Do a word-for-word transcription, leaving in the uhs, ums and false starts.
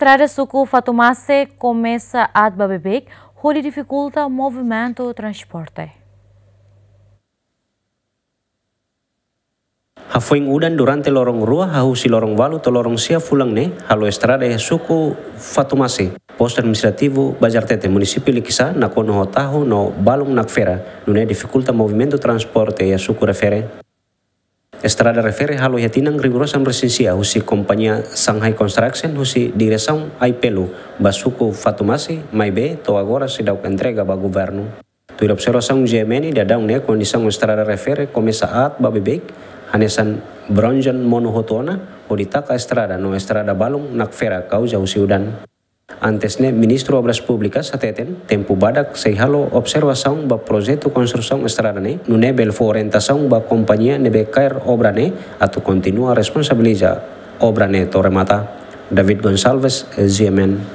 Estrada suku Fatumase komesa aat ba beibeik, hodi difikulta movimentu transporte. Hafoin udan durante loron rua, hahú husi loron ualu to'o loron sia fulan ne'e, halo estrada iha suku Fatumase, postu administrativu Bazartete, munisípiu Likisá, nakonu ho tahu no balun nakfera, nune'e difikulta movimentu transporte iha suku refere. Estrada refere halo iha tinan rihun rua sanulu-resin-sia husi kompañia Shanghai Construction husi diresaun Aipelu ba suku Fatumase, maibé to'o agora seidauk entrega ba governu. Tuir observasaun G M N, daudaun ne'e kondisaun estrada refere komesa aat ba beibeik, hanesan bronjan monu hotu ona, hodi taka estrada no estrada balun nakfera kauza husi udan. Antes ne'e, Ministru Obras Públikas hateten, tempu badak sei halo observasaun ba projetu konstrusaun estrada ne'e, nune'e bele fó orientasaun ba kompañia ne'ebé kaer obra ne'e atu kontinua responsabiliza obra ne'e to'o remata. David Gonçalves, G M N.